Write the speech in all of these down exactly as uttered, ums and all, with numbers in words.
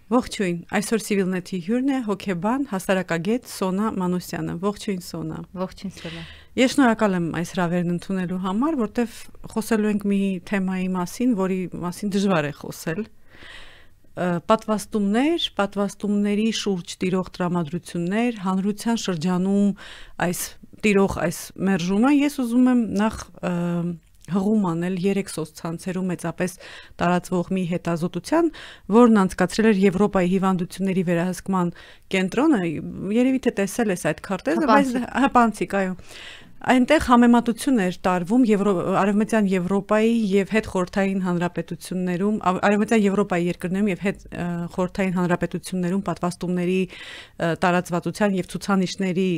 Ողջույն, այսօր Civilnet-ի հյուրն է հոգեբան, հասարակագետ Սոնա Մանոսյանը։ Ողջույն Սոնա։ Ողջույն Սոնա։ Ես շնորհակալ եմ այս հրավերն ընդունելու համար, որտեվ խոսելու ենք մի թեմայի մասին, որի մասին դժվար է խոսել։ Պատվաստումներ, պատվաստումների շուրջ տիրող տրամադրություններ, հանրության շրջանում այս տիրող այս մերժումը, ես ուզում եմ նախ հղում անել երեք սոցցանցերում մեծապես տարածվող մի հետազոտության, որն անցկացրել էր Եվրոպայի հիվանդությունների վերահսկման կենտրոնը, երևի թե տեսել ես այդ քարտեզը, բայց հպանցիկ, այո։ Այնտեղ համեմատություն էր տարվում Արևմտյան Եվրոպայի եւ հետխորհրդային հանրապետություններում, Արևմտյան Եվրոպայի երկրներում եւ հետխորհրդային հանրապետություններում պատվաստումների տարածվածության եւ ցուցանիշների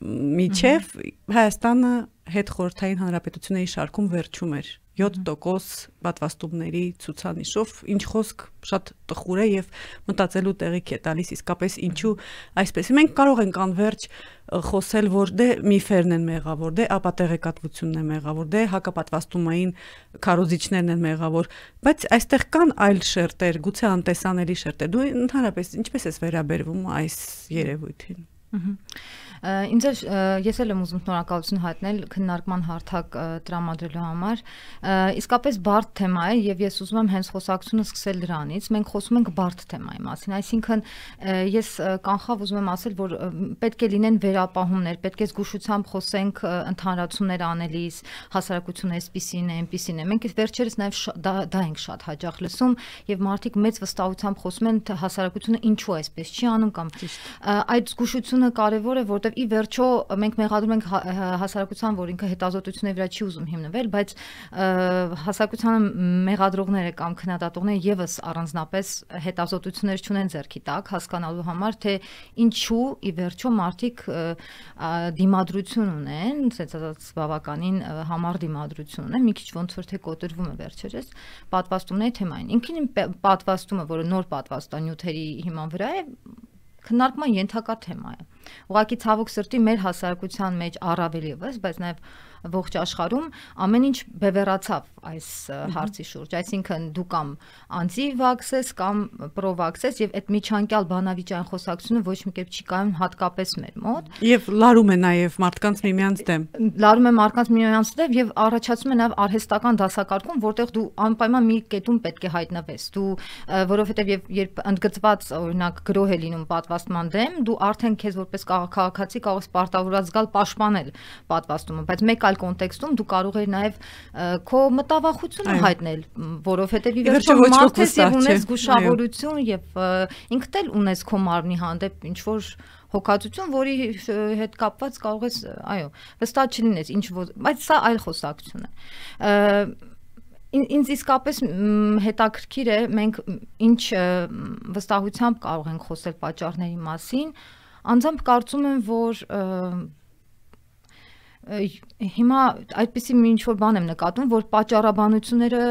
միջև Հայաստանը հետխորհրդային հանրապետությունների շարքում վերջում էր յոթ տոկոս պատվաստումների ցուցանիշով, ինչ խոսք շատ տխուր է եւ մտածելու տեղիք է տալիս իսկապես ինչու այսպես։ Մենք կարող ենք անverջ խոսել, որ դե միֆերն են մեղավոր, դե ապատեղեկատվությունն է մեղավոր, դե հակապատվաստումային քարոզիչներն են մեղավոր, բայց այստեղ կան այլ շերտեր, գուցե անտեսանելի շերտեր։ Դու ընդհանրապես ինչպես ես վերաբերվում այս երևույթին։ Ինձ ես էլ եմ ուզում շնորհակալություն հայտնել քննարկման հարթակ տրամադրելու համար։ Իսկապես բարդ թեմա է եւ ես ուզում եմ հենց խոսակցությունը սկսել դրանից։ Մենք խոսում ենք բարդ թեմայի մասին, այսինքն ես կանխավ ուզում եմ ասել, որ պետք է լինեն վերապահումներ, պետք է զգուշությամբ խոսենք ընդհանրացումներ անելիս, հասարակությունը այսպիսին է, այնպիսին է։ Մենք վերջերս նաեւ դա ենք շատ հաճախ լսում եւ մարդիկ մեծ վստահությամբ խոսում են թե հասարակությունը ինչու այսպես չի անում կամ այդ զգուշությունը կարեւոր է, որտեղ ի վերջո մենք մեղադրում ենք հասարակության, որ ինքը հետազոտությունների վրա չի ուզում հիմնվել, բայց հասարակությանը մեղադրողները կամ քննադատողները եւս առանձնապես հետազոտություններ չունեն ձեռքի տակ հասկանալու համար, թե ինչու ի վերջո մարդիկ դիմադրություն ունեն, ասած բավականին համառ դիմադրություն ունեն, մի քիչ ոնց որ թե կոտրվում է վերջերս պատվաստումների թեմային։ Ինքնին պատվաստումը, որը նոր պատվաստանյութերի հիման վրա է, քննարկման ենթակա թեմա է։ Ուղղակի ցավոք սրտի մեր հասարակության մեջ առավել եւս, բայց նաեւ ողջ աշխարհում ամեն ինչ բևեռացավ այս հարցի շուրջ, այսինքն դու կամ անձի վաքսես կամ պրովաքսես եւ այդ միջանկյալ բանավիճային խոսակցությունը ոչ մի կերպ չի կայուն հատկապես մեր մոտ եւ լարում է նաեւ մարդկանց միմյանց դեմ լարում է մարդկանց միմյանց դեմ եւ առաջացում է նաեւ արհեստական դասակարգում, որտեղ դու անպայման մի կետում պետք է հայտնվես, դու որովհետեւ երբ ընդգծված օրինակ գրոհ է լինում պատվաստման դեմ, դու արդեն քեզ որպես քաղաքացի կարող ես պարտավորված զգալ պաշտպանել պատվաստումը, բայց մեկ այլ կոնտեքստում դու կարող ես նաև քո մտավախությունը հայտնել, որովհետև ի վերջո մարդ ես եւ ունես զգուշավորություն եւ ինքդ էլ ունես քո մարմնի հանդեպ ինչ որ հոգացություն, որի հետ կապված կարող ես, այո, վստահ չլինես, ինչ որ, բայց սա այլ խոսակցություն է։ Ինձ իսկապես հետաքրքիր է մենք ինչ վստահությամբ կարող ենք խոսել պատճառների մասին, անձամբ կարծում եմ, որ հիմա այդպիսի մի ինչ-որ բան եմ նկատում, որ պատճառաբանությունները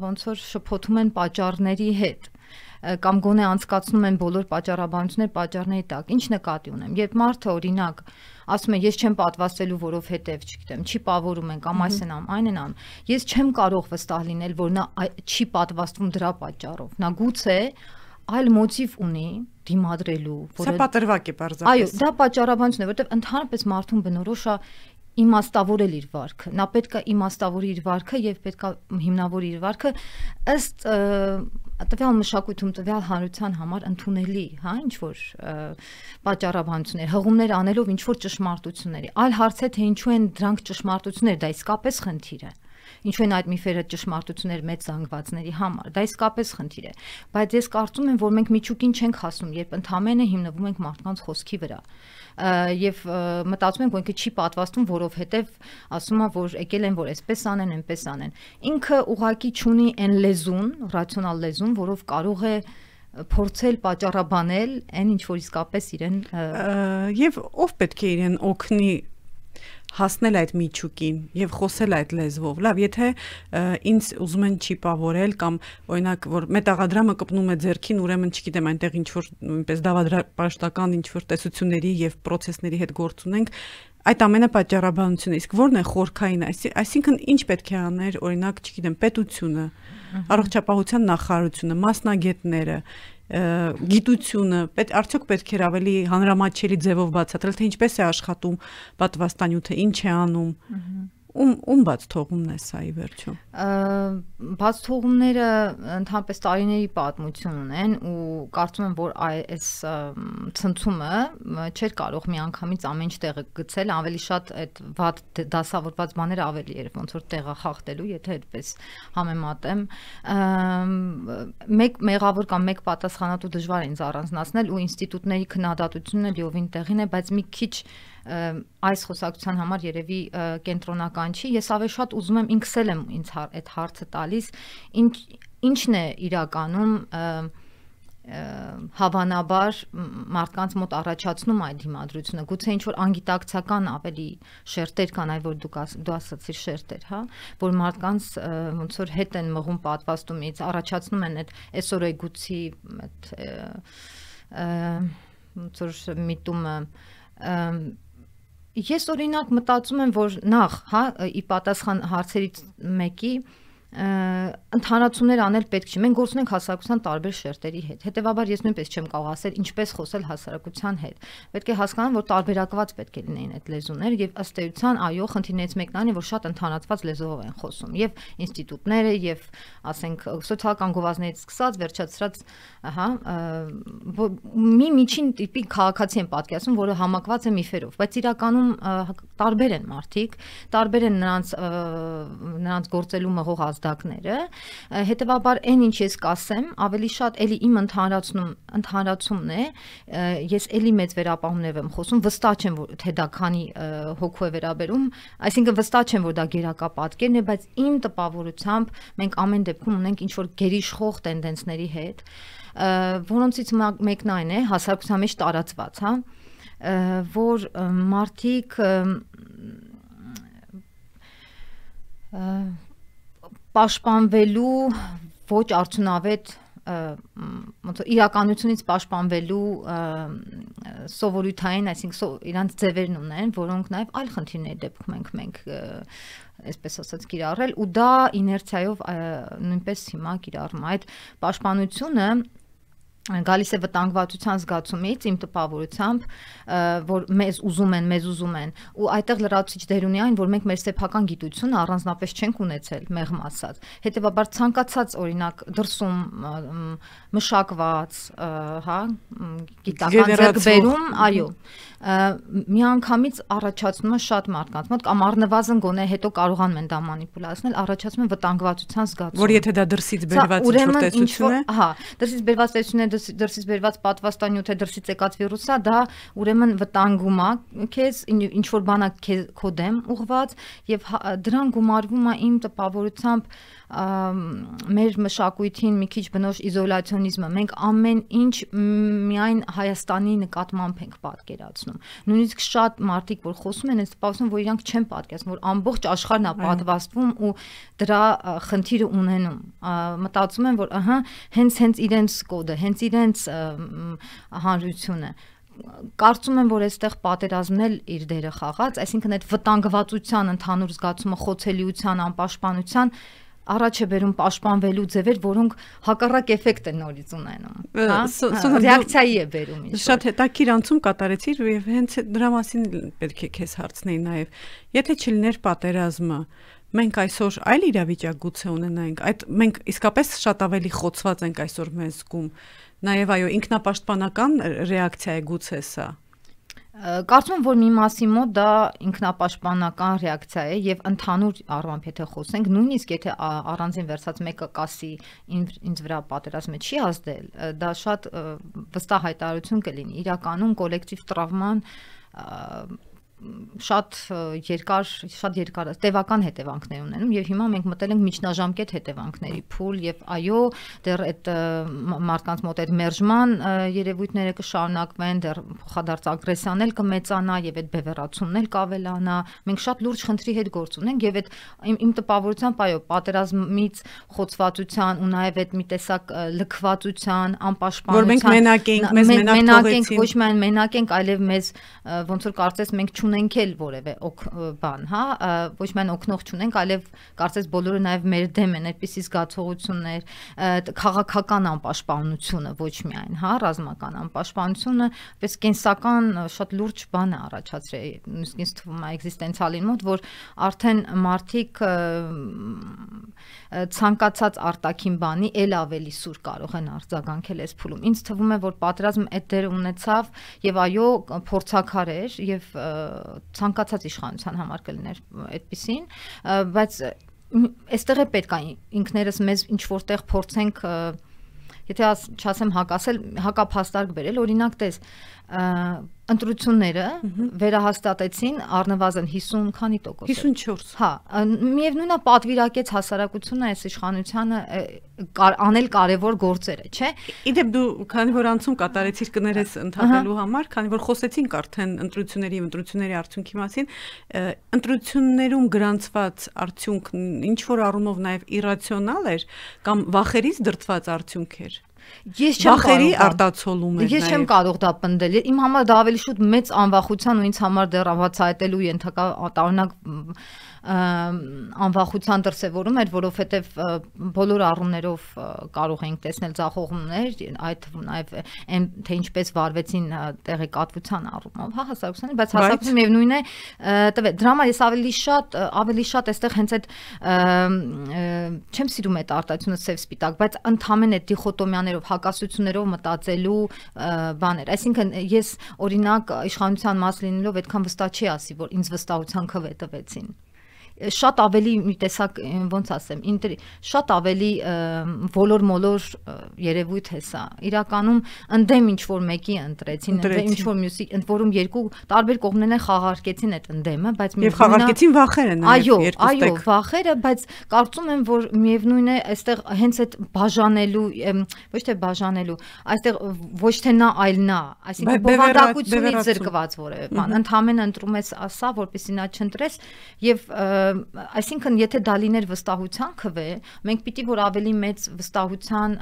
ոնց որ շփոթում են պատճառների հետ կամ գոնե անցկացնում են բոլոր պատճառաբանությունները պատճառների տակ։ Ինչ նկատի ունեմ, երբ մարդը օրինակ ասում է ես չեմ պատվաստելու, որովհետև, չգիտեմ, չի պավորում են կամ այս են անում, այն են անում, ես չեմ կարող վստահ լինել, որ նա չի պատվաստվում դրա պատճառով, նա գուցե այլ մոտիվ ունի դիմադրելու, որը Սա պատրվակ է պարզապես։ Այո, դա պատճառաբանություն է, որովհետև ընդհանրապես մարդուն բնորոշ է իմաստավորել իր վարքը։ Նա պետք է իմաստավորի իր վարքը եւ պետք է հիմնավորի իր վարքը ըստ տվյալ մշակույթում տվյալ հանրության համար ընդունելի, հա, ինչ որ պատճառաբանություններ, հղումներ անելով ինչ որ ճշմարտությունների։ Այլ հարց է թե ինչու են դրանք ճշմարտություններ, դա իսկապես խնդիր է։ Ինչու են այդ միֆերը ճշմարտություններ մեծ զանգվածների համար, դա իսկապես խնդիր է, բայց ես կարծում եմ, որ մենք միջուկին չենք հասնում, երբ ընդհանրապես հիմնվում ենք մարդկանց խոսքի վրա եւ մտածում ենք, որ ինքը չի պատվաստում, որովհետեւ ասում է, որ եկել են, որ այսպես անեն, այնպես անեն։ Ինքը ուղակի չունի այն լեզուն, ռացիոնալ լեզուն, որով կարող է փորձել պատճառաբանել այն ինչ որ իսկապես իրեն եւ ով պետք է իրեն օգնի հասնել այդ միջուկին եւ խոսել այդ լեզվով։ Լավ, եթե ինձ ուզում են չիպավորել կամ օրինակ որ մետաղադրամը կպնում է ձեռքին, ուրեմն չգիտեմ, այնտեղ ինչ որ նույնպես դավադրապաշտական ինչ որ տեսությունների եւ պրոցեսների հետ գործ ունենք, այդ ամենը պատճառաբանություն է։ Իսկ ո՞րն է խորքային, այսինքն ինչ պետք է աներ, օրինակ, չգիտեմ, պետությունը, առողջապահության նախարարությունը, մասնագետները, գիտությունը, պետք արդյոք պետք է ավելի հանրամատչելի ձևով բացատրել, թե ինչպես է աշխատում պատվաստանյութը, ինչ է անում։ Ում ում բաց թողումն է սա ի վերջո։ Բաց թողումները ընդհանրապես տարիների պատմություն ունեն ու կարծում եմ, որ այս ցնցումը չէր կարող միանգամից ամեն ինչ տեղը գցել, ավելի շատ այդ վատ դասավորված բաները ավելի էր ոնց որ տեղը խախտելու, եթե այդպես համեմատեմ։ Մեկ մեղավոր կամ մեկ պատասխանատու դժվար է ինձ առանձնացնել ու ինստիտուտների քննադատությունը լիովին տեղին է, բայց մի քիչ այս խոսակցության համար երևի կենտրոնական չի, ես ավելի շատ ուզում եմ ինքս էլ եմ ինձ այդ հարցը տալիս, ինչ ինչն է իրականում հավանաբար մարդկանց մոտ առաջացնում այդ դիմադրությունը, գուցե ինչ որ անգիտակցական ավելի շերտեր կան, այ որ դու դու ասացիր շերտեր, հա, որ մարդկանց ոնց որ հետ են մղում պատվաստումից, առաջացնում են այդ էսօրեգուցի այդ ոնց որ միտումը Ես օրինակ մտածում եմ, որ նախ, հա, ի պատասխան հարցերից մեկի ընդհանրացումներ անել պետք չի։ Մենք գործում ենք հասարակության տարբեր շերտերի հետ։ Հետևաբար ես նույնպես չեմ կարող ասել ինչպես խոսել հասարակության հետ։ Պետք է հասկանան, որ տարբերակված պետք է լինեն այդ լեզուները եւ ըստ էության, այո, խնդիրներից մեկն այն է, որ շատ ընդհանրացված լեզվով են խոսում եւ ինստիտուտները եւ ասենք սոցիալական գովազդներից սկսած վերջացրած, ահա, մի միջին տիպի քաղաքացի են պատկերացնում, որը համակված է միֆերով, բայց իրականում տարբեր են մարդիկ, տարբեր են նրանց նրանց գործելու մղող ազդակները, հետևաբար այն ինչ ես կասեմ, ավելի շատ էլի իմ ընդհանրացնում ընդհանրացումն է, ես էլի մեծ վերապահումներով եմ խոսում, վստահ չեմ, որ թե դա քանի հոգու է վերաբերում, այսինքն վստահ չեմ, որ դա գերակա պատկերն է, բայց իմ տպավորությամբ մենք ամեն դեպքում ունենք ինչ որ գերիշխող տենդենսների հետ, որոնցից մեկն այն է, հասարակության մեջ տարածված, հա, որ մարդիկ պաշտպանվելու ոչ արդյունավետ ոնց իրականությունից պաշտպանվելու սովորութային, այսինքն իրանց ձևերն ունեն, որոնք նաև այլ խնդիրների դեպքում ենք մենք այսպես ասած կիրառել ու դա իներցիայով նույնպես հիմա կիրառում այդ պաշտպանությունը գալիս է վտանգվածության զգացումից իմ տպավորությամբ, որ մեզ ուզում են, մեզ ուզում են ու այդտեղ լրացուցիչ դեր ունի այն, որ մենք մեր սեփական գիտությունը առանձնապես չենք ունեցել, մեղմ ասած։ Հետևաբար ցանկացած օրինակ դրսում մշակված, հա, գիտական ձեռքբերում, այո, միանգամից առաջացնում է շատ մարդկանց մոտ կամ առնվազն գոնե հետո կարողանում են դա մանիպուլացնել, առաջացնում են վտանգվածության զգացում։ Որ եթե դա դրսից բերված ինչ-որ տեսություն է, հա, դրսից բերված տեսություն է, դրսից բերված պատվաստանյութ է, դրսից եկած վիրուս է, դա ուրեմն վտանգում է քեզ, ինչ որ բան է քո դեմ ուղված եւ դրան գումարվում է իմ տպավորությամբ մեր մշակույթին մի քիչ բնորոշ իզոլացիոնիզմը։ Մենք ամեն ինչ միայն Հայաստանի նկատմամբ ենք պատկերացնում։ Նույնիսկ շատ մարդիկ, որ խոսում են, այս տպավորություն, որ իրանք չեն պատկերացնում, որ ամբողջ աշխարհն է պատվաստվում ու դրա խնդիրը ունենում։ Մտածում են, որ ահա հենց հենց իրենց կոդը, հենց իրենց հանրությունը կարծում եմ, որ այստեղ պատերազմն էլ իր դերը խաղաց, այսինքն այդ վտանգվածության ընդհանուր զգացումը, խոցելիության, անպաշտպանության առաջ է բերում պաշտպանվելու ձևեր, որոնք հակառակ էֆեկտ են նորից ունենում, հա, ռեակցիայի է բերում ինչ-որ։ Շատ հետաքրքիր անցում կատարեցիր եւ հենց դրա մասին պետք է քեզ հարցնեի նաեւ։ Եթե չլիներ պատերազմը, մենք այսօր այլ իրավիճակ գուցե ունենայինք, այդ մենք իսկապես շատ ավելի խոցված ենք այսօր մեզ զգում։ Նաեւ այո, ինքնապաշտպանական ռեակցիա է գուցե սա։ Կարծում եմ, որ մի մասի մոտ դա ինքնապաշտպանական ռեակցիա է եւ ընդհանուր առմամբ եթե խոսենք, նույնիսկ եթե առանձին վերցած մեկը կասի ինձ վրա պատերազմը չի ազդել, դա շատ վստահ հայտարարություն կլինի։ Իրականում կոլեկտիվ տրավման շատ երկար, շատ երկար տևական հետևանքներ ունենում եւ հիմա մենք մտել ենք միջնաժամկետ հետևանքների փուլ եւ այո, դեռ այդ մարդկանց մոտ այդ մերժման երևույթները կշարունակվեն, դեռ փոխադարձ ագրեսիան էլ կմեծանա եւ այդ բևեռացումն էլ կավելանա։ Մենք շատ լուրջ խնդրի հետ գործ ունենք եւ այդ իմ տպավորությամբ այո, պատերազմից խոցվածության ու նաեւ այդ մի տեսակ լքվածության, անպաշտպանության, որ մենք մենակ ենք, մեզ մենակ թողեցին, ոչ միայն մենակ ենք, այլև մեզ ոնց որ կարծես մենք չունենք էլ որևէ բան, հա, ոչ միայն օգնող չունենք, այլև կարծես բոլորը նաև մեր դեմ են այդպիսի զգացողություններ, քաղաքական անպաշտպանությունը ոչ միայն, հա, ռազմական անպաշտպանությունը, պես կենսական շատ լուրջ բան է առաջացրել, նույնիսկ ինձ թվում է էգզիստենցիալին մոտ, որ արդեն մարդիկ ցանկացած արտաքին բանի էլ ավելի սուր կարող են արձագանքել այս փուլում։ Ինձ թվում է, որ պատերազմը այդ դերը ունեցավ եւ այո, փորձաքար էր եւ ցանկացած իշխանության համար կլիներ այդպեսին, բայց այստեղ է պետք է ինքներս մեզ ինչ որտեղ փորձենք, եթե չասեմ հակասել, հակափաստարկ բերել, օրինակ տես, ընտրությունները վերահաստատեցին առնվազն հիսուն քանի տոկոս։ հիսունչորս։ Հա, միևնույնն է պատվիրակեց հասարակությունը այս իշխանությանը անել կարևոր գործերը, չէ։ Իդեպ դու քանի որ անցում կատարեցիր կներես ընդհատելու համար, քանի որ խոսեցինք արդեն ընտրությունների եւ ընտրությունների արդյունքի մասին, ընտրություններում գրանցված արդյունքն ինչ որ առումով նաեւ իրացիոնալ էր կամ վախերից դրդված արդյունք էր։ Ես չեմ վախերի արտացոլում էր։ Ես չեմ կարող դա պնդել։ Իմ համար դա ավելի շուտ մեծ անվախության ու ինձ համար դեռ բացահայտելու ենթակա տարօրինակ անվախության դրսևորում էր, որովհետև բոլոր առումներով կարող էինք տեսնել ձախողումներ, այդ թվում նաև այն թե ինչպես վարվեցին տեղեկատվության առումով, հա, հասարակությանը, բայց հասարակությունը միևնույն է տվեց։ Դրա համար ես ավելի շատ ավելի շատ այստեղ հենց այդ չեմ սիրում այդ արտահայտությունը սև սպիտակ, բայց ընդհանրեն այդ դիխոտոմիաներով, հակասություններով մտածելու բաներ։ Այսինքն ես օրինակ իշխանության մաս լինելով այդքան վստահ չի ասի, որ ինձ վստահության քվե տվեցին։ Շատ ավելի մի տեսակ ոնց ասեմ, շատ ավելի ոլոր-մոլոր երևույթ է սա։ Իրականում ընդդեմ ինչ որ մեկի ընտրեցին, ընդդեմ ինչ որ մյուսի, ընդ որում երկու տարբեր կողմներն են խաղարկեցին այդ ընդդեմը, բայց եւ խաղարկեցին վախերը այո, այո, վախերը, բայց կարծում եմ, որ միևնույն է, այստեղ հենց այդ բաժանելու, ոչ թե բաժանելու, այստեղ ոչ թե նա, այլ նա, այսինքն բովանդակությունից զրկված որևէ բան, ընդհանրեն ընտրում ես ասա, որպեսզի նա չընտրես եւ այսինքն եթե դա լիներ վստահության քվե, մենք պիտի որ ավելի մեծ վստահության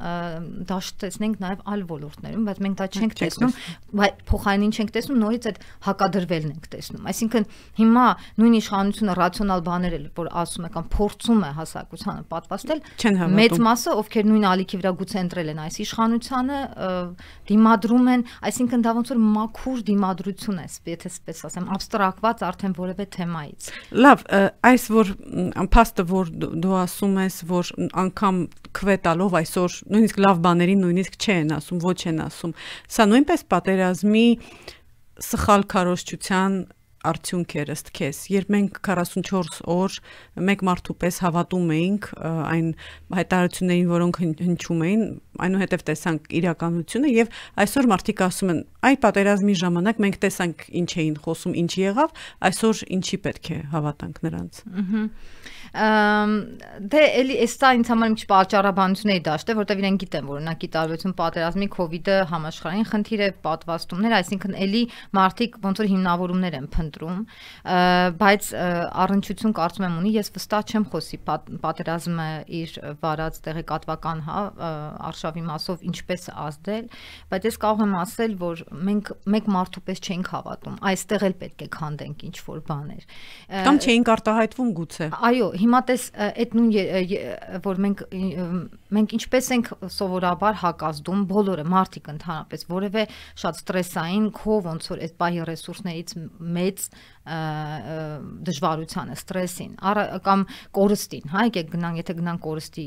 դաշտ տեսնենք նաև այլ ոլորտներում, բայց մենք դա չենք տեսնում, բայց փոխարենին չենք տեսնում, նորից այդ հակադրվելն ենք տեսնում։ Այսինքն հիմա նույն իշխանությունը ռացիոնալ բաներ էլ որ ասում է կամ փորձում է հասարակությանը պատվաստել, մեծ մասը ովքեր նույն ալիքի վրա գուցե ընտրել են այս իշխանությանը, դիմադրում են, այսինքն դա ոնց որ մաքուր դիմադրություն է, եթե այսպես ասեմ, աբստրակտված արդեն որևէ թեմայից։ Լավ, այս որ փաստը որ դու ասում ես, որ անգամ քվե տալով այսօր նույնիսկ լավ բաներին նույնիսկ չեն ասում, ոչ են ասում, սա նույնպես պատերազմի սխալ քարոզչության արդյունք էր ըստ քեզ, երբ մենք քառասունչորս օր մեկ մարդու պես հավատում էինք այն հայտարարություններին, որոնք հնչում էին, այնուհետև տեսանք իրականությունը եւ այսօր մարդիկ ասում են, այ պատերազմի ժամանակ մենք տեսանք ինչ էին խոսում, ինչ եղավ, այսօր ինչի պետք է հավատանք նրանց։ Դե էլի էստա ինձ համար մի պատճառաբանությունների դաշտ է, որտեղ իրենք գիտեն, որ օրինակի տարբերություն պատերազմի կովիդը համաշխարհային խնդիր է, պատվաստումներ, այսինքն էլի մարդիկ ոնց որ հիմնավորումներ են փնտրում, բայց առնչություն կարծում եմ ունի, ես վստահ չեմ խոսի պատերազմը իր վարած տեղեկատվական, հա, արշավի մասով ինչպես ազդել, բայց ես կարող եմ ասել, որ մենք մեկ մարդու պես չենք հավատում, այստեղ էլ պետք է քանդենք ինչ որ բաներ։ Կամ չէինք արտահայտվում գուցե։ Այո, հիմա տես այդ նույն որ մենք մենք ինչպես ենք սովորաբար հակազդում բոլորը մարդիկ ընդհանրապես որևէ շատ ստրեսային քո ոնց որ այդ պահի ռեսուրսներից մեծ դժվարությանը, ստրեսին, կամ կորստին, հա, եկեք գնանք, եթե գնանք կորստի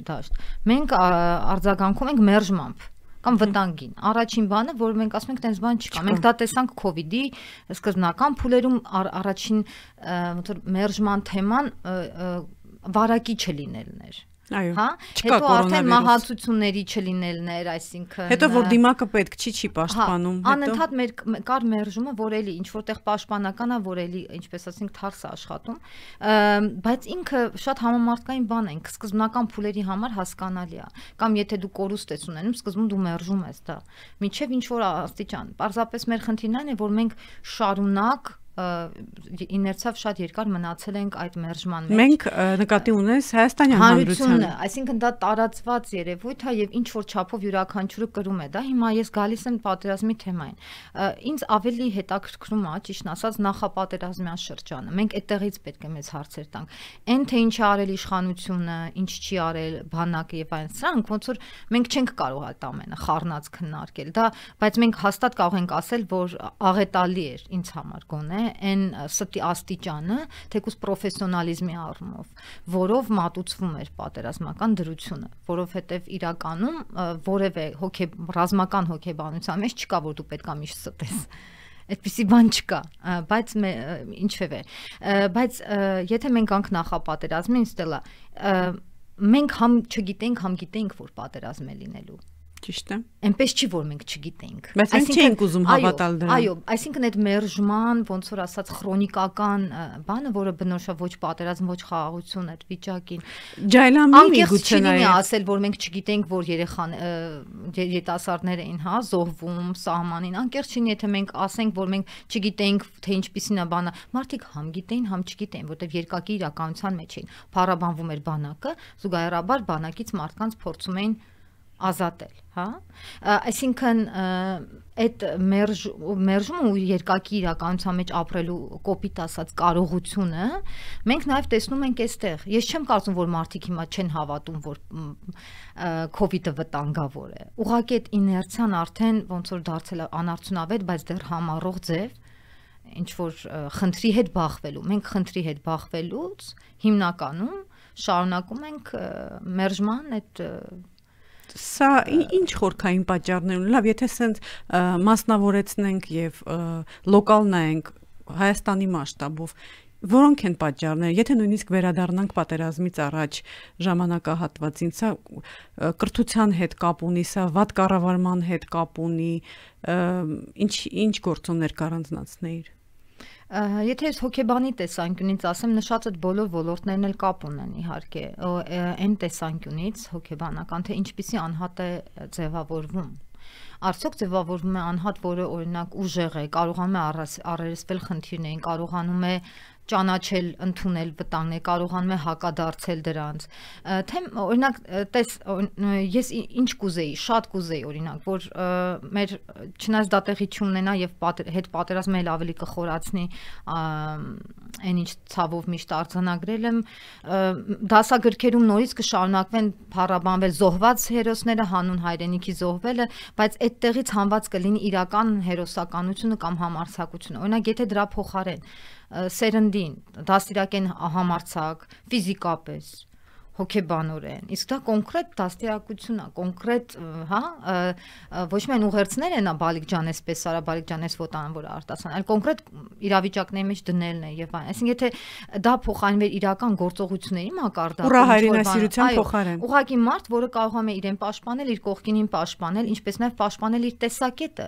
դաշտ։ Մենք արձագանքում ենք մերժմամբ կամ վտանգին։ Առաջին բանը, որ մենք ասում ենք, տենց բան չկա։ Մենք դա տեսանք կովիդի սկզբնական փուլերում առաջին ոնց որ մերժման թեման վարակի չլինելն էր։ Այո, հա, հետո արդեն մահացությունների չլինելներ, այսինքն հետո որ դիմակը պետք չի չի պաշտպանում, հետո անընդհատ մեր կար մերժումը, որ էլի ինչ որտեղ պաշտպանական է, որ էլի ինչպես ասենք թարս է աշխատում, բայց ինքը շատ համամարտկային բան է, սկզբնական փուլերի համար հասկանալի է, կամ եթե դու կորուստ ես ունենում, սկզբում դու մերժում ես դա, մինչև ինչ որ աստիճան։ Պարզապես մեր խնդիրն այն է, որ մենք շարունակ իներցիայով շատ երկար մնացել ենք այդ մերժման մեջ։ Մենք նկատի ունես Հայաստանյան հանրությունը, այսինքն դա տարածված երևույթ է եւ ինչ որ չափով յուրաքանչյուրը կրում է դա։ Հիմա ես գալիս եմ պատերազմի թեմային։ Ինձ ավելի հետաքրքրում է, ճիշտ ասած, նախապատերազմյան շրջանը։ Մենք այդտեղից պետք է մեծ հարցեր տանք։ Էն թե ինչ է արել իշխանությունը, ինչ չի արել բանակը եւ այլն, սրանք ոնց որ մենք չենք կարող այդ ամենը խառնած քննարկել։ Դա, բայց մենք հաստատ կարող ենք ասել, որ աղետալի էր ինձ համար գոնե այն ստի աստիճանը, թեկուզ պրոֆեսիոնալիզմի առումով, որով մատուցվում էր պատերազմական դրությունը, որովհետև իրականում որևէ հոգե ռազմական հոգեբանության մեջ չկա, որ դու պետքա միշտ ստես։ Այդպիսի բան չկա, բայց ինչևէ, բայց եթե մենք անք նախապատերազմին, Ստելա, մենք համ չգիտենք, համ գիտենք, որ պատերազմ է լինելու։ Ճիշտ է։ Այնպես չի, որ մենք չգիտենք։ Բայց մենք չենք ուզում հավատալ դրան։ Այո, այսինքն այդ մերժման, ոնց որ ասած, քրոնիկական բանը, որը բնորոշ է ոչ պատերազմ, ոչ խաղաղություն այդ վիճակին։ Ջայլամի միգուցե նայ ասել, որ մենք չգիտենք, որ երեխան երիտասարդներ էին, հա, զոհվում սահմանին։ Անկեղծ չի, եթե մենք ասենք, որ մենք չգիտենք, թե ինչպիսին է բանը։ Մարդիկ համ գիտեին, համ չգիտեին, որտեղ երկակի իրականության մեջ էին։ Փառաբանվում էր բանակը, զուգահեռաբար բանակից մարդկանց փորձում էին ազատել, հա, այսինքն այդ մերժումը ու երկակի իրականության մեջ ապրելու կոպիտ ասած կարողությունը մենք նաև տեսնում ենք այստեղ։ Ես չեմ կարծում, որ մարդիկ հիմա չեն հավատում, որ COVID-ը վտանգավոր է։ Ուղղակի այդ իներցիան արդեն ոնց որ դարձել է անարդյունավետ, բայց դեռ համառող ձև ինչ որ խնդրի հետ բախվելու։ Մենք խնդրի հետ բախվելուց հիմնականում շարունակում ենք մերժման այդ Սա ինչ խորքային պատճառներ ունի։ Լավ, եթե սենց մասնավորեցնենք եւ լոկալ նայենք Հայաստանի մասշտաբով, որոնք են պատճառները, եթե նույնիսկ վերադառնանք պատերազմից առաջ ժամանակահատվածին, սա կրթության հետ կապ ունի, սա վատ կառավարման հետ կապ ունի, ինչ ինչ գործոններ կառանձնացնեիր։ Եթե ես հոգեբանի տեսանկյունից ասեմ, նշած այդ բոլոր ոլորտներն էլ կապ ունեն իհարկե, այն տեսանկյունից հոգեբանական, թե ինչպիսի անհատ է ձևավորվում։ Արդյոք ձևավորվում է անհատ, որը օրինակ ուժեղ է, կարողանում է առերեսվել խնդիրներին, կարողանում է ճանաչել, ընդունել վտանգներ, կարողանում է հակադարձել դրանց։ Թե օրինակ, տես, ես ինչ կուզեի, շատ կուզեի օրինակ, որ մեր չնայած դա տեղի չունենա եւ հետ պատերազմը էլ ավելի կխորացնի այն ինչ ցավով միշտ արձանագրել եմ, դասագրքերում նորից կշարունակվեն փառաբանվել զոհված հերոսները, հանուն հայրենիքի զոհվելը, բայց այդտեղից հանված կլինի իրական հերոսականությունը կամ համարձակությունը։ Օրինակ, եթե դրա փոխարեն սերնդին դաստիարակեն համարձակ, ֆիզիկապես, հոգեբանորեն, իսկ դա կոնկրետ դաստիարակություն է, կոնկրետ, հա, ոչ միայն ուղերձներ են Բալիկ Ջանես պես, Սարա Բալիկ Ջանես Վոտան, որ արտասան, այլ կոնկրետ իրավիճակների մեջ դնելն է եւ այլն։ Այսինքն եթե դա փոխանցվեր իրական գործողությունների մակարդակում, ուրա հայրենասիրության փոխարեն, ուղղակի մարդ, որը կարողանում է իրեն պաշտպանել, իր կողքինին պաշտպանել, ինչպես նաեւ պաշտպանել իր տեսակետը,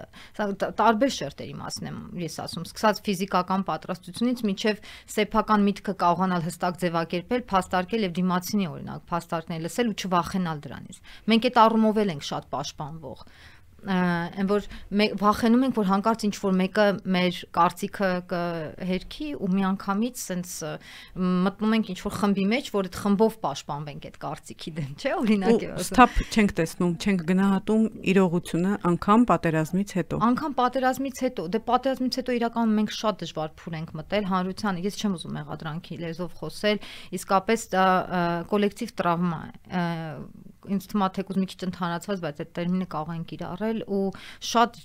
տարբեր շերտերի մասն եմ ես ասում, սկսած ֆիզիկական պատրաստությունից մինչեւ սեփական միտքը կարողանալ հստակ ձևակերպել, փաստարկել եւ դիմացինի օրինակ փաստարկներ լսել ու չվախենալ դրանից։ Մենք այդ առումով էլ ենք շատ պաշտպանվող, այն որ վախենում ենք, որ հանկարծ ինչ որ մեկը մեր կարծիքը կհերքի ու միանգամից սենց մտնում ենք ինչ որ խմբի մեջ, որ այդ խմբով պաշտպանվենք այդ կարծիքի դեմ, չէ՞, օրինակ է ասում։ Ստապ չենք տեսնում, չենք գնահատում իրողությունը անգամ պատերազմից հետո։ Անգամ պատերազմից հետո, դե պատերազմից հետո իրականում մենք շատ դժվար փուր ենք մտել հանրությանը, ես չեմ ուզում մեղադրանքի լեզվով խոսել, իսկապես դա կոլեկտիվ տրավմա է։ Ինձ թվում է թեկուզ մի քիչ ընդհանրացված, բայց այդ տերմինը կարող են կիրառել ու շատ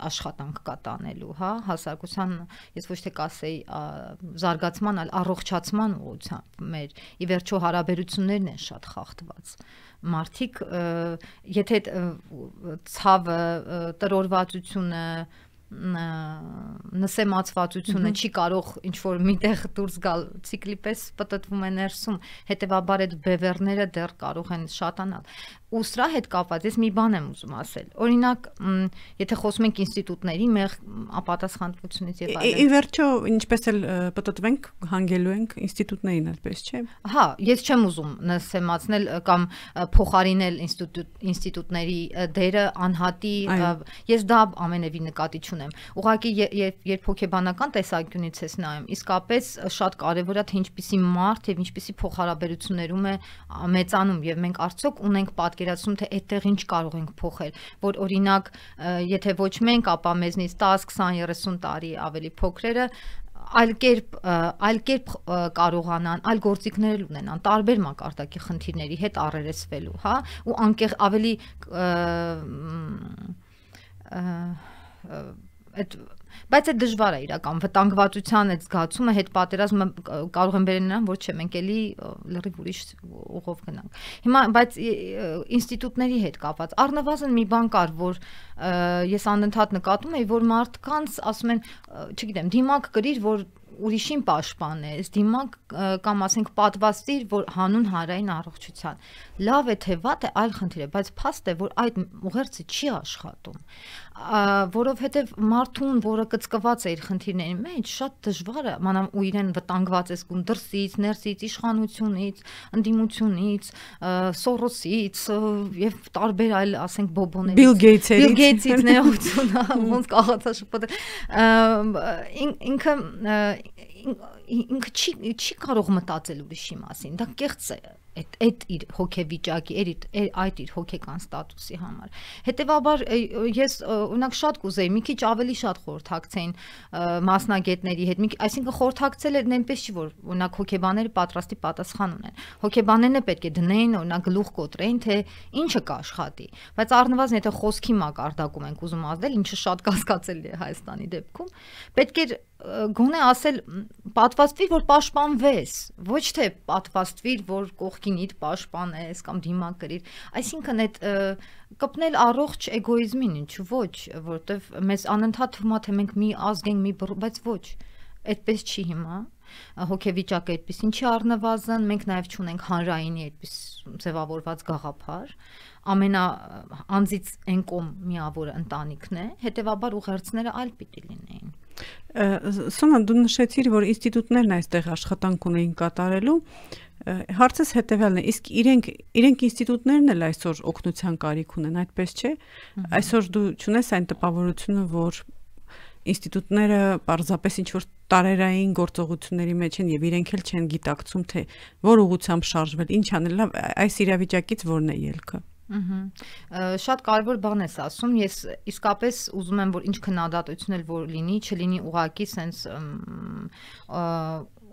աշխատանք կա տանելու, հա, հասարակության, ես ոչ թե կասեի զարգացման, այլ առողջացման ուղղությամբ մեր ի վերջո հարաբերություններն են շատ խախտված։ Մարդիկ, եթե ցավը, տրորվածությունը, նսեմացվածությունը չի կարող ինչ որ միտեղ դուրս գալ, ցիկլի պես պտտվում է ներսում, հետեւաբար այդ բևեռները դեռ կարող են շատանալ։ ու սրա հետ կապված ես մի բան եմ ուզում ասել։ Օրինակ, եթե խոսում ենք ինստիտուտների մեր ապատասխանատվությունից եւ այլն։ Ի վերջո, ինչպես էլ պատտվենք, հանգելու ենք ինստիտուտներին, այդպես չէ։ Հա, ես չեմ ուզում նսեմացնել կամ փոխարինել ինստիտուտների դերը անհատի, ես դա ամենևին նկատի չունեմ։ Ուղղակի երբ հոգեբանական տեսանկյունից ես նայում, իսկապես շատ կարևոր է թե ինչպիսի մարդ եւ ինչպիսի փոխհարաբերություններում է մեծանում եւ մենք արդյոք ունենք պատկերացում թե այդտեղ ինչ կարող ենք փոխել, որ օրինակ եթե ոչ մենք, ապա մեզնից տասը, քսան, երեսուն տարի ավելի փոքրերը այլ կերպ այլ կերպ կարողանան, այլ գործիքներ ունենան, տարբեր մակարդակի խնդիրների հետ առերեսվելու, հա, ու անկեղ ավելի այդ բայց այդ դժվար է իրական վտանգվածության այդ զգացումը հետ պատերազմը կարող են բերել նրան, որ չէ, մենք էլի լրիվ ուրիշ ուղով գնանք։ Հիմա բայց ինստիտուտների հետ կապված առնվազն մի բան կար, որ ես անընդհատ նկատում եի, որ մարդկանց ասում են, չգիտեմ, դիմակ գրիր, որ ուրիշին պաշտպանես, դիմակ կամ ասենք պատվաստիր, որ հանուն հանրային առողջության։ Լավ է թե վատ է, այլ խնդիր է, բայց փաստ է, որ այդ ուղերձը չի աշխատում, որովհետև մարդուն, որը կծկված է իր խնդիրների մեջ, շատ դժվար է, մանամ ու իրեն վտանգված է զգում դրսից, ներսից, իշխանությունից, ընդդիմությունից, Սորոսից եւ տարբեր այլ, ասենք, բոբոներից, Բիլ Գեյթսից, Բիլ Գեյթսից ներողություն, ոնց կաղացա շփոթել, ինքը ինքը չի չի կարող մտածել ուրիշի մասին, դա կեղծ է այդ այդ իր հոգեվիճակի, այդ իր հոգեկան ստատուսի համար։ Հետևաբար ես օրինակ շատ կուզեի մի քիչ ավելի շատ խորհրդակցեին մասնագետների հետ, այսինքն խորհրդակցել են այնպես չի, որ օրինակ հոգեբանները պատրաստի պատասխան ունեն։ Հոգեբաններն է պետք է դնեին, օրինակ գլուխ կոտրեին, թե ինչը կաշխատի, բայց առնվազն եթե խոսքի մակարդակում ենք ուզում ազդել, ինչը շատ կասկածելի է Հայաստանի դեպքում, պետք է գոնե ասել պատվաստվիր, որ պաշտպանվես, ոչ թե պատվաստվիր, որ կողքինիդ պաշտպանես կամ դիմակ գրիր, այսինքն այդ կպնել առողջ էգոիզմին, ինչու ոչ, որտեվ մեզ անընդհատ թվում է թե մենք մի ազգ ենք, մի բռ, բայց ոչ, այդպես չի հիմա, հոգեվիճակը այդպեսին չի առնվազն, մենք նաև չունենք հանրայինի այդպես ձևավորված գաղափար, ամենա անձից ենկոմ միավորը ընտանիքն է, հետևաբար ուղերձները այլ պիտի լինեին։ Սոնա, դու նշեցիր, որ ինստիտուտներն այստեղ աշխատանք ունեին կատարելու, հարցս հետևյալն է, իսկ իրենք իրենք ինստիտուտներն էլ այսօր օգնության կարիք ունեն, այդպես չէ։ Այսօր դու չունես այն տպավորությունը, որ ինստիտուտները պարզապես ինչ-որ տարերային գործողությունների մեջ են եւ իրենք էլ չեն գիտակցում, թե որ ուղղությամբ շարժվել, ինչ անել, այս իրավիճակից որն է ելքը։ Շատ կարևոր բան ես ասում, ես իսկապես ուզում եմ, որ ինչ քննադատություն էլ որ լինի, չլինի ուղղակի սենց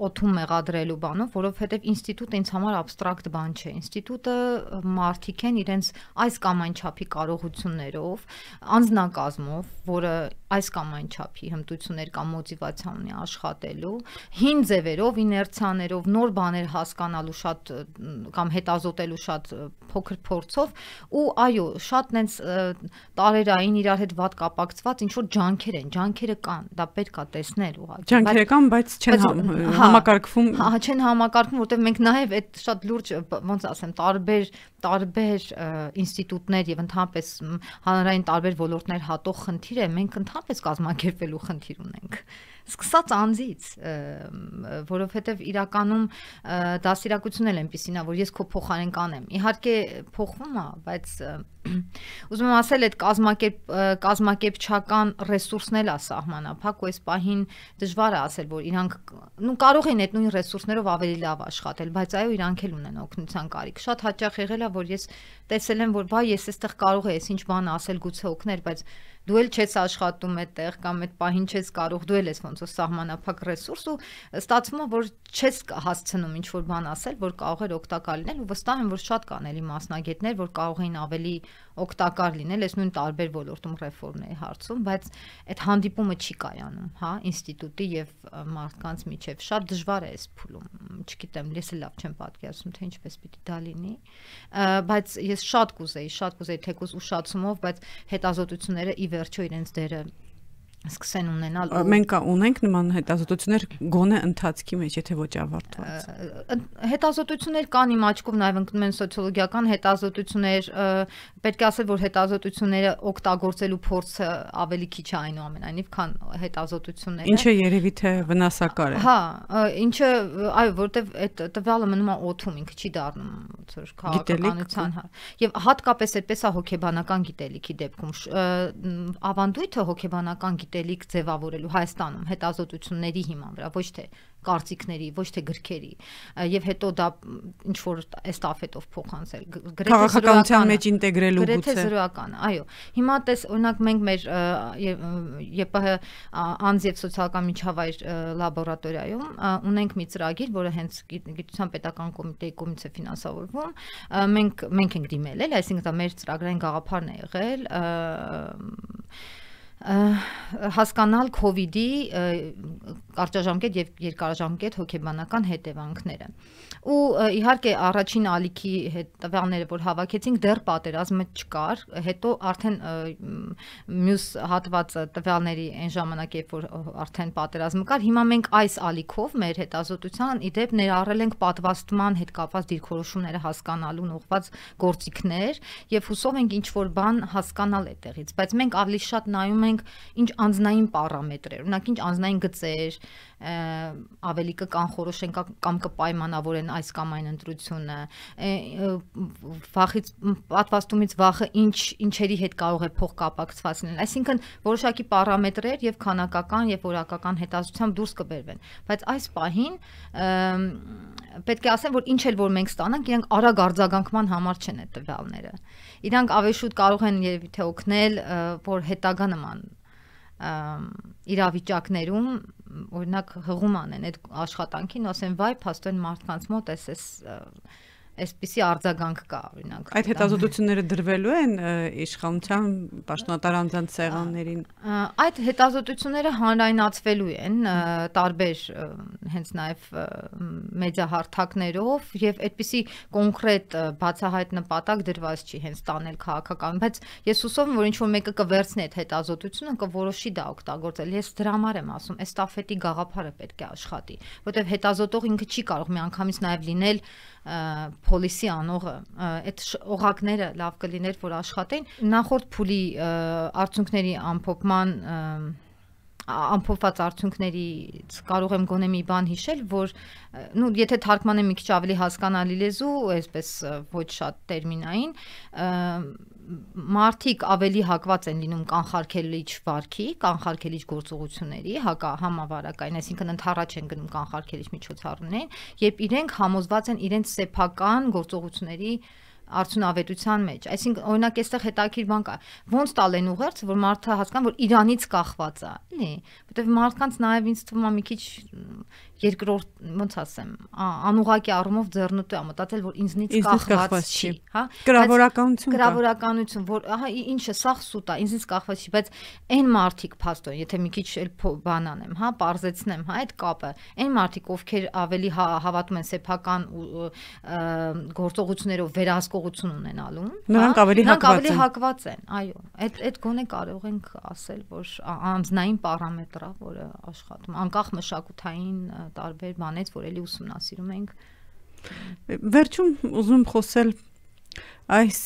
օթում մեղադրելու բանով, որովհետև ինստիտուտը ինձ համար абստրակտ բան չէ։ Ինստիտուտը մարդիկ են իրենց այս կամ այն չափի կարողություններով, անձնակազմով, որը այս կամ այն չափի հմտություններ կամ մոտիվացիա ունի աշխատելու, հին ձևերով, իներցիաներով, նոր բաներ հասկանալու շատ կամ հետազոտելու շատ փոքր փորձով ու այո, շատ նենց տարերային իրար հետ վատ կապակցված ինչ որ ջանքեր են, ջանքերը կան, դա պետք է տեսնել ուղղակի։ Ջանքերը կան, բայց չեն համակարգվում։ Հա, չեն համակարգվում, որտեղ մենք նաև այդ շատ լուրջ, ոնց ասեմ, տարբեր տարբեր ինստիտուտներ եւ ընդհանրապես հանրային տարբեր ոլորտներ հատող խնդիր է, մենք ընդհանրապես կազմակերպելու խնդիր ունենք։ Սկսած անձից, որովհետև իրականում դասիրակությունն էլ այնպեսին է, որ ես քո փոխարեն կանեմ։ Իհարկե փոխվում է, բայց ուզում եմ ասել, այդ կազմակերպ կազմակերպչական ռեսուրսն էլ է սահմանափակ, ու այս պահին դժվար է ասել, որ իրանք նու կարող են այդ նույն ռեսուրսներով ավելի լավ աշխատել, բայց այո, իրանք էլ ունեն օգնության կարիք։ Շատ հաճախ եղել է, որ ես տեսել եմ, որ վայ, ես այստեղ կարող եմ ինչ բան ասել, գուցե օգներ, բայց դու էլ չես աշխատում այդտեղ կամ այդ պահին չես կարող, դու էլ ես ոնց որ սահմանափակ ռեսուրս ու ստացվում է, որ չես հասցնում ինչ որ բան ասել, որ կարող էր օգտակար լինել ու վստահ եմ, որ շատ կան էլի մասնագետներ, որ կարող էին ավելի օգտակար լինել այս նույն տարբեր ոլորտում ռեֆորմների հարցում, բայց այդ հանդիպումը չի կայանում, հա, ինստիտուտի եւ մարդկանց միջեւ շատ դժվար է այս փուլում, չգիտեմ, ես էլ լավ չեմ պատկերացնում, թե ինչպես պիտի դա լինի, բայց ես շատ կուզեի, շատ կուզեի թեկուզ ուշացումով, բայց հետազոտությունները ի վերջո իրենց դերը սկսեն ունենալ մենք ունենք նման հետազոտություններ գոնե ընթացքի մեջ, եթե ոչ ավարտված։ Հետազոտություններ կան իմ աչքով, նաև ընկնում են սոցիոլոգիական հետազոտություններ, պետք է ասել, որ հետազոտությունները օգտագործելու փորձը ավելի քիչ է այնուամենայնիվ, քան հետազոտությունները։ Ինչը երևի թե վնասակար է։ Հա, ինչը, այո, որովհետև այդ տվյալը մնում է օդում, ինքը չի դառնում ոնց քաղաքականության, հա։ Եվ հատկապես այդպես է հոգեբանական գիտելիքի դեպքում, ավանդույթը հոգեբանական գիտելիք ձևավորելու Հայաստանում հետազոտությունների հիման վրա, ոչ թե կարծիքների, ոչ թե գրքերի, եւ հետո դա ինչ որ էստաֆետով փոխանցել, քաղաքականության մեջ ինտեգրելու գուցե։ Գրեթե զրոյական, այո։ Հիմա տես, օրինակ մենք մեր ԵՊՀ անձ եւ սոցիալական միջավայր լաբորատորիայում ունենք մի ծրագիր, որը հենց գիտության պետական կոմիտեի կողմից է ֆինանսավորվում։ Մենք մենք ենք դիմել, էլ, այսինքն դա մեր ծրագրային գաղափարն է եղել հասկանալ COVID-ի կարճաժամկետ եւ երկարաժամկետ հոգեբանական հետևանքները։ Ու իհարկե առաջին ալիքի տվյալները, որ հավաքեցինք, դեռ պատերազմը չկար, հետո արդեն մյուս հատվածը տվյալների այն ժամանակ, երբ որ արդեն պատերազմը կար, հիմա մենք այս ալիքով մեր հետազոտության իդեպ ներառել ենք պատվաստման հետ կապված դիրքորոշումները հասկանալուն ուղղված գործիքներ եւ հուսով ենք ինչ որ բան հասկանալ այդտեղից, բայց մենք ավելի շատ նայում ենք ինչ անձնային պարամետրեր, օրինակ ինչ անձնային գծեր ավելի կկանխորոշեն կամ կպայմանավորեն այս կամ այն ընտրությունը, վախից պատվաստումից վախը ինչ ինչերի հետ կարող է փոխկապակցված լինել, այսինքն որոշակի պարամետրեր եւ քանակական եւ որակական հետազոտությամբ դուրս կբերվեն, բայց այս պահին պետք է ասեմ, որ ինչ էլ որ մենք ստանանք, իրանք արագ արձագանքման համար չեն այդ տվյալները, իրանք ավելի շուտ կարող են երևի թե օգնել, որ հետագա նման իրավիճակներում օրինակ հղում անեն այդ աշխատանքին, ասեն վայ, փաստորեն մարդկանց մոտ էս այսպիսի արձագանք կա, օրինակ։ Այդ հետազոտությունները դրվելու են իշխանության պաշտոնատար անձանց սեղաններին։ Այդ հետազոտությունները հանրայնացվելու են տարբեր հենց նաև մեդիահարթակներով եւ այդպիսի կոնկրետ բացահայտ նպատակ դրված չի հենց տանել քաղաքական, բայց ես հուսով եմ, որ ինչ որ մեկը կվերցնի այդ հետազոտությունը, կորոշի դա օգտագործել։ Ես դրա համար եմ ասում, էստաֆետի գաղափարը պետք է աշխատի, որտեղ հետազոտող ինքը չի կարող միանգամից նաև լինել policy անողը, այդ օղակները լավ կլիներ, որ աշխատեն։ Նախորդ փուլի արդյունքների ամփոփման ամփոփված արդյունքներից կարող եմ գոնե մի բան հիշել, որ նու եթե թարգմանեմ մի քիչ ավելի հասկանալի լեզու, այսպես ոչ շատ տերմինային, մարդիկ ավելի հակված են լինում կանխարգելիչ վարքի, կանխարգելիչ գործողությունների, հակա համավարակային, այսինքն ընդառաջ են գնում կանխարգելիչ միջոցառումներին, երբ իրենք համոզված են իրենց սեփական գործողությունների արդյունավետության մեջ, այսինքն օրինակ այստեղ հետաքրքիր բան կա, ոնց տալ են ուղերձ, որ մարդը հասկանա, որ իրանից կախված է, էլի, որտեղ մարդկանց նաև ինձ թվում է մի քիչ երկրորդ, ոնց ասեմ, անուղղակի առումով ձեռնտու է մտածել, որ ինձնից կախված չի, հա? Գրավորականություն կա։ Գրավորականություն, որ ահա ինչը սաղ սուտ է, ինձնից կախված չի, բայց այն մարդիկ փաստորեն, եթե մի քիչ էլ բան անեմ, հա, բարձեցնեմ, հա, այդ կապը, այն մարդիկ, ովքեր ավելի հավատում են սեփական գործողություններով վերահսկողություն ունենալու, նրանք ավելի ավելի հակված են, այո, այդ այդ գոնե կարող ենք ասել, որ անձնային պարամետր է, որը աշխատում, անկախ մշակութային տարբեր բանից, որ էլի ուսումնասիրում ենք։ Վերջում ուզում խոսել այս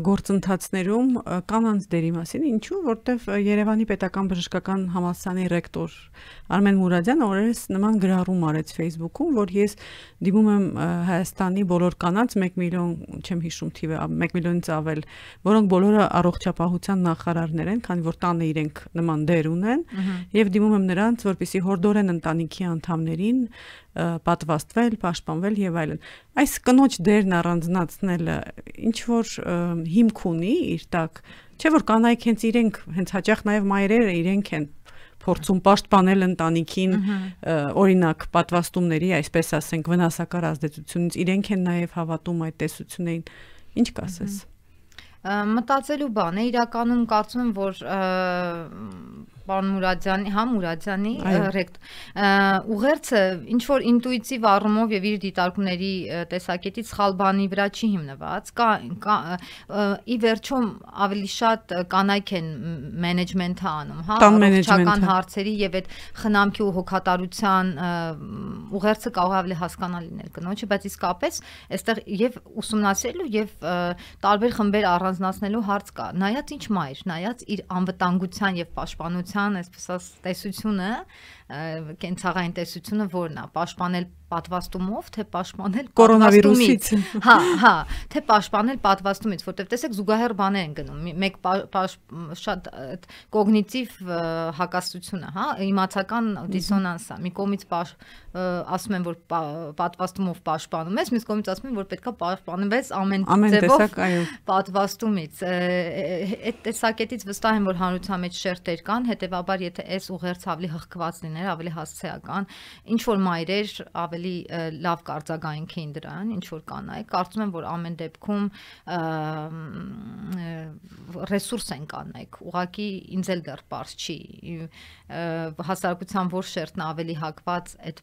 գործընթացներում կանանց դերի մասին, ինչու, որտեվ Երևանի պետական բժշկական համալսարանի ռեկտոր Արմեն Մուրադյանը օրերս նման գրառում արեց Facebook-ում, որ ես դիմում եմ Հայաստանի բոլոր կանանց մեկ միլիոն, չեմ հիշում թիվը, մեկ միլիոնից ավել, որոնք բոլորը առողջապահության նախարարներ են, քանի որ տանը իրենք նման դեր ունեն, եւ դիմում եմ նրանց, որպեսզի հորդորեն ընտանիքի անդամներին պատվաստվել, պաշտպանվել եւ այլն։ Այս կնոջ դերն առանձնացնելը ինչ որ հիմք ունի իր տակ, չէ՞ որ կանայք հենց իրենք, հենց հաճախ նաեւ մայրերը իրենք են փորձում պաշտպանել ընտանիքին, օրինակ պատվաստումների, այսպես ասենք, վնասակար ազդեցությունից, իրենք են նաեւ հավատում այդ տեսություններին։ Ինչ կասես։ Մտածելու բան է, իրականում կարծում եմ, որ պարոն Մուրադյանի, հա Մուրադյանի ռեկտոր, ուղերձը ինչ որ ինտուիտիվ առումով եւ իր դիտարկումների տեսակետից սխալ բանի վրա չի հիմնված, կա ի վերջո ավելի շատ կանայք են մենեջմենթը անում, հա, առողջական հարցերի եւ այդ խնամքի ու հոգատարության ուղերձը կարող է ավելի հասկանալի լինել կնոջը, բայց իսկապես այստեղ եւ ուսումնասիրելու եւ տարբեր խմբեր առանձնացնելու հարց կա, նայած ինչ մայր, նայած իր անվտանգության եւ պաշտպանության, այսպես ասած, տեսությունը, կենցաղային տեսությունը որն է, պաշտպանել պատվաստումով, թե պաշտպանել կորոնավիրուսից, հա, հա, թե պաշտպանել պատվաստումից, որտեղ տեսեք զուգահեռ բաներ են գնում, մեկ շատ կոգնիտիվ հակասությունը, հա, իմացական դիսոնանս է, մի կողմից ասում են, որ պատվաստումով պաշտպանում ես, մյուս կողմից ասում են, որ պետքա պաշտպանվես ամեն ձևով պատվաստումից, այդ տեսակետից վստահ եմ, որ հանրության մեջ շերտեր կան, հետեւաբար եթե այս ուղերձը ավելի հղկված լիներ, ավելի հասցեական, ինչ որ մայրեր ավելի լավ կարձագանքեին դրան, ինչ որ կանայք, կարծում եմ, որ ամեն դեպքում ռեսուրս են կանայք, ուղղակի ինձ էլ դեռ պարզ չի, հասարակության որ շերտն ավելի հակված այդ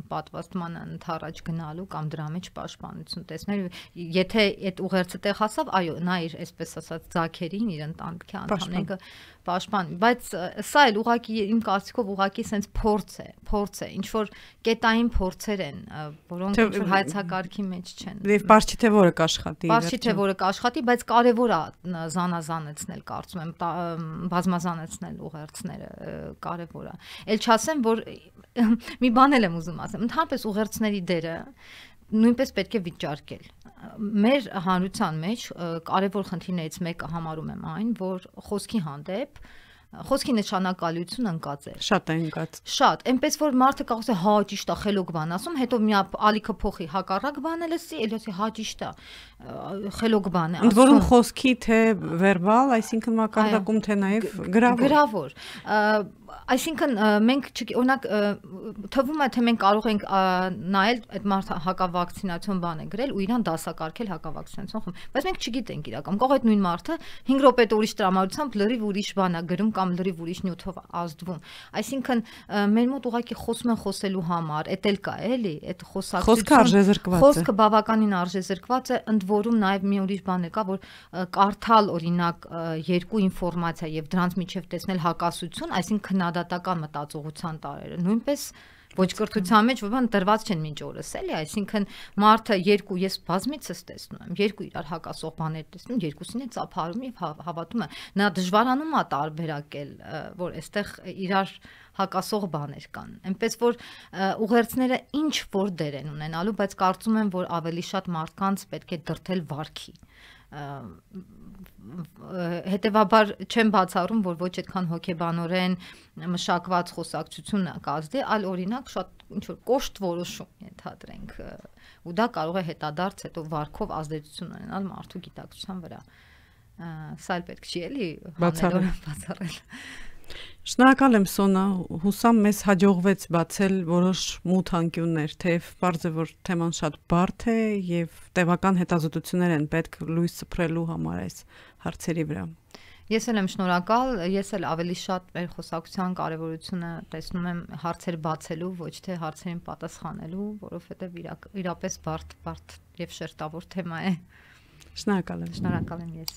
պատվաստմանը ընդառաջ գնալու կամ դրա մեջ պաշտպանություն տեսնել, եթե այդ ուղերձը տեղ հասավ, այո, նա իր այսպես ասած ձագերին, իր ընտանիքի անդամները պաշտպան, բայց սա էլ ուղղակի իմ կարծիքով ուղղակի sense փորձ է, փորձ է, ինչ որ կետային փորձեր են, որոնք ինչ որ հայեցակարգի մեջ չեն։ Եվ բարձի թե որը կաշխատի։ Բարձի թե որը կաշխատի, բայց կարևոր է զանազանեցնել, կարծում եմ, բազմազանեցնել ուղերձները, կարևոր է։ Էլ չասեմ, որ մի բան էլ եմ ուզում ասեմ, ընդհանրապես ուղերձների դերը նույնպես պետք է վիճարկել։ Մեր հանրության մեջ կարևոր խնդիրներից մեկը համարում եմ այն, որ խոսքի հանդեպ խոսքի նշանակալիությունը ընկած է։ Շատ է ընկած։ Շատ, այնպես որ մարդը կարող է հա ճիշտ է, խելոք բան ասում, հետո մի ալիքը փոխի հակառակ բանը լսի, էլ ասի հա ճիշտ է, խելոք բան է ասում։ Ընդ որում խոսքի թե վերբալ, այսինքն մակարդակում թե նաև գրավոր։ Գրավոր։ Այսինքն մենք օրինակ թվում է թե մենք կարող ենք նայել այդ մարդը հակավակցինացիոն բան է գրել ու իրան դասակարգել հակավակցինացիոն խմբ, բայց մենք չգիտենք իրական։ Կարող է այդ նույն մարդը հինգ րոպե ուրիշ տրամադրությամբ լրիվ ուրիշ բան է գրում կամ լրիվ ուրիշ նյութով ազդվում։ Այսինքն մեր մոտ ուղղակի խոսում են խոսելու համար, էդ էլ կա, էլի, այդ խոսակցություն։ Խոսքը արժեզրկված է։ Խոսքը բավականին արժեզրկված է, ընդ որում նաև մի ուրիշ բան է կա, որ կարդալ օրինակ երկու ինֆորմացիա եւ դրանց միջև տեսնել հակասություն, այսինքն քննադատական մտածողության տարերը նույնպես ոչ կրթության մեջ որ բան դրված չեն մինչ օրս էլի, այսինքն մարդը երկու ես բազմիցս տեսնում եմ, երկու իրար հակասող բաներ տեսնում, երկուսին է ծափարում եւ հավատում է, նա դժվարանում է տարբերակել, որ այստեղ իրար հակասող բաներ կան, այնպես որ ուղերձները ինչ որ դեր են ունենալու, բայց կարծում եմ, որ ավելի շատ մարդկանց պետք է դրթել վարքի, հետևաբար չեմ բացառում, որ ոչ այդքան հոգեբանորեն մշակված խոսակցությունը կազդի, այլ օրինակ շատ ինչ որ կոշտ որոշում ենթադրենք ու դա կարող է հետադարձ հետո վարքով ազդեցություն ունենալ մարդու գիտակցության վրա։ Սա էլ պետք չի էլի բացառել։ Շնորհակալ եմ Սոնա, հուսամ մեզ հաջողվեց բացել որոշ մութ անկյուններ, թեև պարզ է, որ թեման շատ բարդ է եւ տևական հետազոտություններ են պետք լույս սփռելու համար այս հարցերի վրա։ Ես էլ եմ շնորհակալ, ես էլ ավելի շատ մեր խոսակցության կարևորությունը տեսնում եմ հարցեր բացելու, ոչ թե հարցերին պատասխանելու, որովհետեւ իրապես բարդ, բարդ եւ շերտավոր թեմա է։ Շնորհակալ եմ։ Շնորհակալ եմ ես։